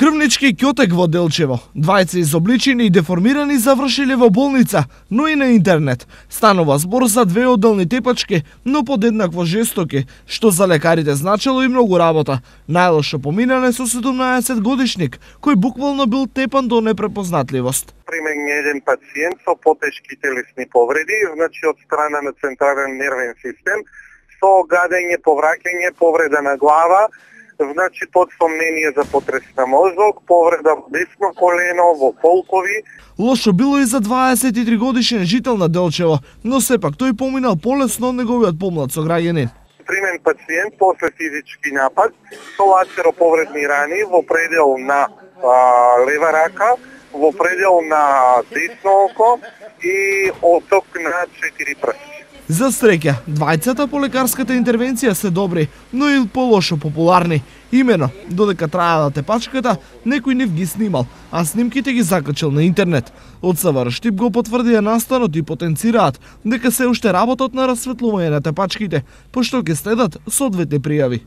Крвнички ќотек во Делчево. Двајца изобличени и деформирани завршиле во болница, но и на интернет. Станува збор за две одделни тепачки, но подеднакво жестоки, што за лекарите значело и многу работа. Најлошо поминане со 17-годишник, кој буквално бил тепан до непрепознатливост. При мен еден пациент со потешки телесни повреди, значи од страна на централен нервен систем, со гадење, повраќање, повреда на глава, значи под сомнение за потрес на мозок, повреда во десно колено, во полкови. Лошо било и за 23 годишен жител на Делчево, но сепак тој поминал полесно од неговиот помлад сограѓанин. При мен пациент после физички напад со лацероповредни рани во предел на лева рака, во предел на десно око и оток на 4 прсти. За среќа, двајцата по лекарската интервенција се добри, но и полошо популарни. Имено, додека траела тепачката, некој нив ги снимал, а снимките ги закачал на интернет. Од СВР Штип го потврдија настанот и потенцираат дека се уште работат на расветлување на тепачките, пошто ќе следат соодветни пријави.